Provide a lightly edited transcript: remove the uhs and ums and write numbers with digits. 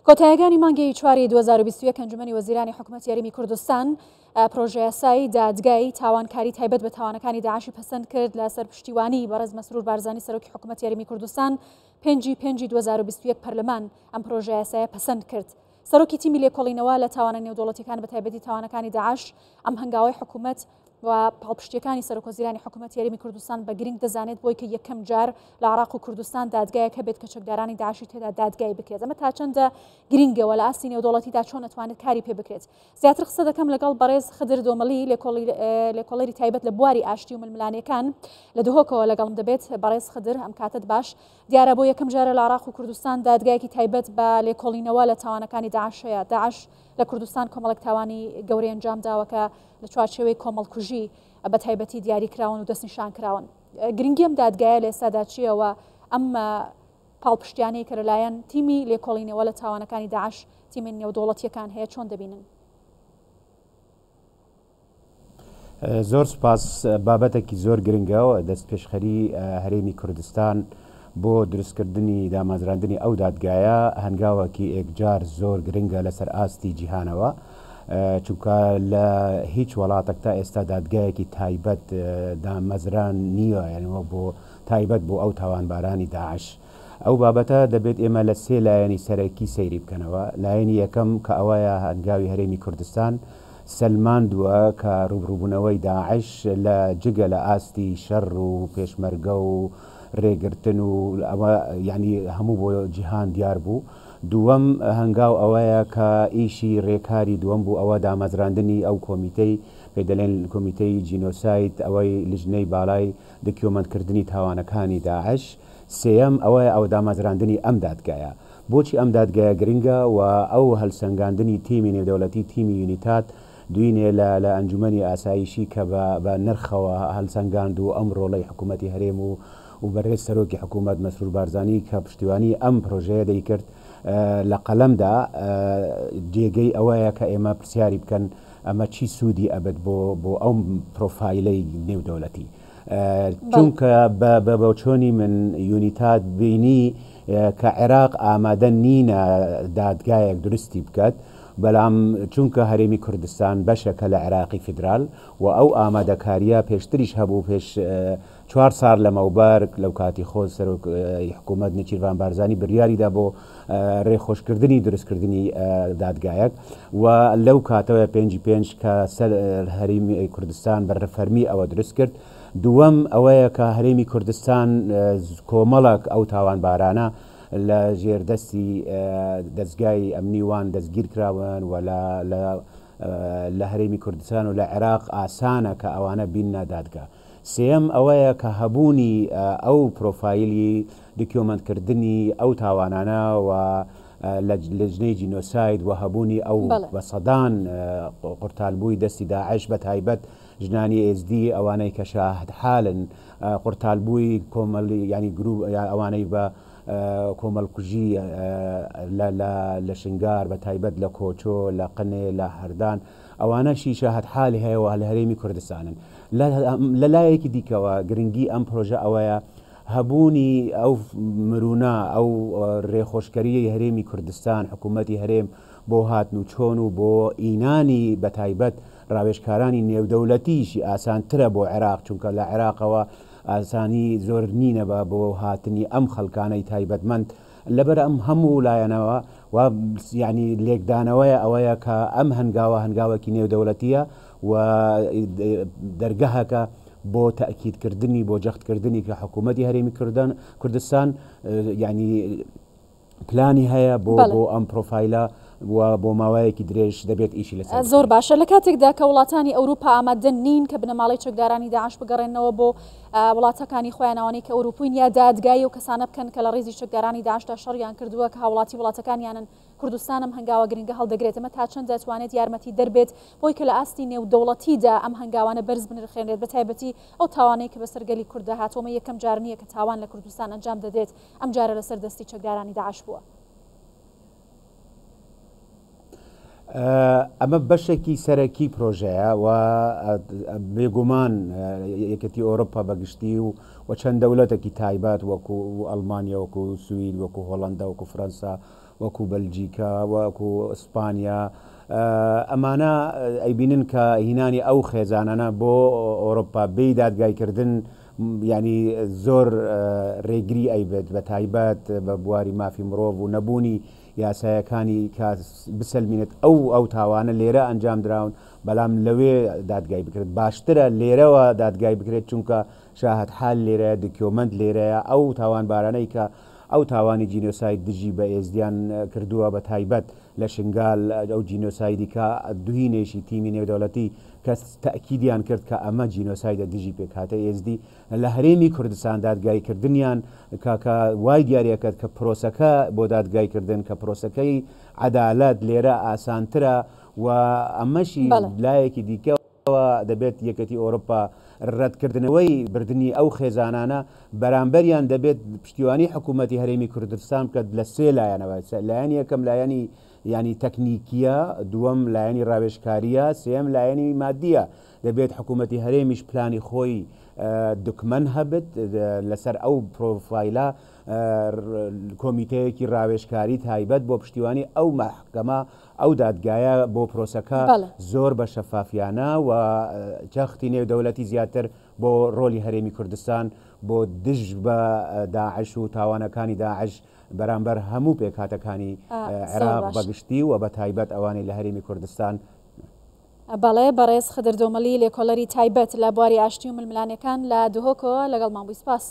کۆتایەکانی مانگی چواری 2021 ئەنجومەنی وەزیرانی حکومەتی هەرێمی کوردستان پرۆژەیاسای دادگای تاوانکاری تایبەت بە تاوانەکانی داعشی پەسەند کرد لە سەر پشتیوانی بەڕێز مەسرور بارزانی سەرۆکی حکومەتی هەرێمی کوردستان پێنجی پێنجی 2021 پەرلەمان ئەم پرۆژەیاسایە پەسەند کرد. سەرۆکی تیمی لێکۆڵینەوە لە تاوانە نێودەوڵەتیەکان بە تایبەتی تاوانەکانی داعش ئەم هەنگاوەی حکومەت و پاڵپشتیەکانی سەرۆکوەزیرانی حکومەتی هەرێمی کوردستان بە گرنگ دەزانێت بۆی کە یەکەم جار لە عراق و کوردستان دادگایەک هەبێت کە چەکدارانی داعشی تێدا دادگای بکرێت. ئەمە تا چەندە گرنگەوە لە ئاستی نێودەوڵەتیدا چۆن ئەتوانێت کاری پێ بکرێت؟ زیاتر قسە دەکەم لەگەڵ بەڕێز خدر دۆمەڵی لێکۆڵەری تایبەت لە بواری ئاشتی و ململانێکان لە دهۆکەوە لەگەڵم دەبێت. بەڕێز خدر ئەم کاتت باش. دیارە بۆ یەکەم جارە لە عراق و کوردستان دادگایەکی تایبەت بە لێکۆڵینەوە لە تاوانەکانی داعش هەیە. داعش لە کوردستان کۆمەڵێک تاوانی گەورەی ئەنجام داوە کە لە چوارچێوەی کۆمەڵکوژی بە تایبەتی دیاری کراون و دەستنیشان کراون. گرنگی ئەم دادگایە لە ئێستادا چییە و ئەم پاڵپشتیانەی کە لەلایەن تیمی لێکۆڵینەوە لە تاوانەکانی داعش تیمە نێودەوڵەتییەکان هەیە چۆن دەبینن؟ زۆر سوپاس، بابەتێکی زۆر گرنگە و دەستپێشخەری هەرێمی کوردستان بۆ دروستکردنی دامەزراندنی ئەو دادگایە هەنگاوەکی ئێکجار زۆر گرنگە لەسەر ئاستی جیهانەوە چونکە لە هیچ وڵاتێک تا ئێستا دادگایەکی تایبەت دامەزران نییە یعنی بۆ تایبەت بۆ ئەو تاوانبارانی داعش. ئەو بابەتە دەبێت ئێمە لە سێ لایەنی سەرەکی سەیری بکەنەوە، لایەنی یەکەم کە ئەوەیە هەنگاوی هەرێمی کوردستان سەلماندووە کە ڕووبڕووبوونەوەی داعش لە جگە لە ئاستی شەڕ و پێشمەرگە و رێگرتن و ئەوە یانی هەموو بۆ جیهان دیار بوو. دووەم هەنگاو ئەوەیە کە ئیشی رێکاری دووەم بوو ئەوە دامەزراندنی ئەو کۆمیتەی پێی دەلێن کۆمیتەی جینۆساید ئەوەی لجنەی بالای دکیۆمەنت کردنی تاوانەکانی داعش. سێیەم ئەوەیە ئەوە دامەزراندنی ئەم دادگایە. بۆچی ئەم دادگایە گرنگە و ئەو هەلسەنگاندنی تیمی نێودەولەتی تیمی یونیتاد دوینێ لە لە ئەنجومەنی ئاسایشی کە بە بە نرخەوە هەلسەنگاند و ئەم رۆڵەی حکومەتی هەرێم و و بەرێز سەرۆکی حکومەت مەسرور بارزانی کە پشتیوانی ئەم پرۆژەیە دەیکرد لە قەلەم دا جێگەی ئەوەیە کە ئێمە پرسیاری بکەن ئەمە چی سوودی ئەبێت بۆ بۆ ئەو پرۆفایلەی نێودەولەتی. چونکە بە بۆچۆنی من یونیتاد بینی کە عێراق ئامادە نینە دادگایەک دروستی بکات، بەلام چونکە هەرێمی کوردستان بەشەکە لە عێراقی فیدرال و ئەو ئامادەکاریە پێشتریش هەبوو پێش چوار سار لەمەوبەر لەو کاتی خۆ سەرۆک حکوومەت نێچیرڤان بارزانی بریاریدا بۆ رێخۆشکردنی دروستکردنی دادگایەک و لەو کاتەوە پێنجی پێنج کە سەر هەرێمی کوردستان بە فەرمی ئەوە دروست کرد. دووەم ئەوەیە کە هەرێمی کوردستان کۆمەڵک ئەو تاوانبارانە لە ژێر دەستی دەزگای ئەمنی وان دەستگیر کراون و لە هەرێمی کوردستان و لە عێراق ئاسانە کە ئەوانە بیننە دادگا. سێیەم ئەوەیە کە هەبوونی ئەو پرۆفایلی دکیۆمەنت کردنی ئەو تاوانانە و لە لجنەی جینۆساید و هەبوونی ئەو بە سەدان قورتالبووی دەستی داعش بە تایبەت ژنانی ئێزدی ئەوانەی کە شاهدحالن قورتالبووی کۆمەڵی یانی گروپ ئەوانەی بە کۆمەڵکوژی لە شنگار بە تایبەت لە کۆچۆ لە قنێ لە هەردان ئەوانەشی شاهدحالی هەیە و لە هەرێمی کوردستانن. لە لایەکی دیکەوە گرنگی ئەم پرۆژە ئەوەیە هەبوونی ئەو مرونە، ئەو رێخۆشکەرییەی هەرێمی کوردستان، حکوومەتی هەرێم بۆ هاتن و چۆن و بۆ ئینانی بەتایبەت راوێژکارانی نێودەولەتیشی ئاسانترە بۆ عێراق، چونکە لە عێراقەوە ئاسانی زۆر نینە بە بۆ هاتنی ئەم خەلکانەی تایبەتمەند لەبەر ئەم هەموو لایەنەوە و یانی لێکدانەوەیە ئەوەیە کە ئەم هەنگاوە هەنگاوێکی نێودەولەتیە و دەرگەهەکە بۆ تەئکیدکردنی بۆ جەختکردنی کە حکوومەتی هەرێمی کوردان کوردستان یعنی پلانی هەیە بۆ بۆ ئەم پرۆفایلە و بۆ ماوەیەکی درێژ دەبێت ئیشی لەسەر زۆر باشە لە کاتێکدا کە وڵاتانی ئەوروپا ئامادە نین کە بنەماڵەی چەکدارانی داعش بگەڕێنەوە بۆ وڵاتەکانی خۆیان ئەوانەی کە ئەوروپین یا دادگایی ئەو کەسانە بکەن کە لە ڕیزی چەکدارانی داعشدا شەڕیان کردووە کە هاوڵاتی وڵاتەکانیانن کوردستان ئەم هەنگاوە گرنگە هەڵدەگرێت ئەمە تا چەند دەتوانێت یارمەتی دەربێت بۆی کە لە ئاستی نێودەوڵەتیدا ئەم هەنگاوانە بەرز بنرخێنرێت بە تایبەتی ئەو تاوانەی کە بەسەر گەلی کورددا هاتووە ئەمە یەکەم جار نییە کە تاوان لە کوردستان ئەنجام دەدرێت ئەم جارە لەسەر دەستی چەکدارانی داعش بووە. ئەمە بەشێکی سەرەکی پرۆژەیە و بێگومان یەکێتی ئەوروپا بەگشتی و و چەند دەولەتێکی تایبەت وەکو ئەڵمانیا وەکو سوید وەکو هۆڵندا وەکو فەرەنسا وەکو بەلجیکا، وەکو ئیسپانیا، ئەمانە ئەیبینن کە هینانی ئەو خێزانانە بۆ ئۆرۆپا بێی دادگایکردن یانی زۆر رێگری ئەیبێت بە تایبەت بە بواری مافی مرۆڤ و نەبوونی یاسایەکانی کە بسەلمینێت ئەو ئەو تاوانە لێرە ئەنجام دراون بەلام لەوێ دادگای بکرێت باشترە لێرەوە دادگای بکرێت چونکە شاهد حال لێرەیە دکیۆمەنت لێرەیە ئەو تاوانبارانەی کە ئەو تاوانی جینۆساید دژی بە ئێزدیان کردووە بە تایبەت لە شنگال ئەو جینۆسایدی کە دوهینێشی تیمی نێودەوڵەتی کە تەئکیدیان کرد کە ئەمە جینۆسایدە دژی پێکهاتەی ئێزدی لە هەرێمی کوردستان دادگایی کردنیان کە کە وای دیاری ئەکرد کە پرۆسەکە بۆ دادگای کردن کە پرۆسەکەی عەدالەت لێرە ئاسانترە و ئەمەشی بەڵێ. لایەکی دیکە دەبێت یەکێتی ئەوروپا رەتکردنەوەی بردنی ئەو خێزانانە بەرامبەریان دەبێت پشتیوانی حکوومەتی هەرێمی کوردستان بکات لە سێ لایەنەوە لایەنی یەکەم لایەنی ینی تەکنیکیە دووەم لایەنی راوێژکاریە سێم لایەنی مادیە دەبێت حکوومەتی هەرێمیش پلانی خۆی دکمەن هەبێت لەسەر ئەو پرۆفایلە کۆمیتەیەکی راوێژکاری تایبەت بۆ پشتیوانی ئەو مەحکەمە ئەو دادگایە بۆ پرۆسەکە زۆر بە شەفافیانە و جەختی نێودەولەتی زیاتر بۆ ڕۆلی هەرێمی کوردستان بۆ دژ بە داعش و تاوانەکانی داعش بەرامبەر هەموو پێکهاتەکانی عێراق بە گشتی و بە تایبەت ئەوانەی لە هەرێمی کوردستان. بەڵێ بەڕێز خدر دۆمەڵی لێکۆڵەری تایبەت لە بواری ئاشتی و ململانێکان لە دهۆکەوە لەگەڵمان بووی سپاس.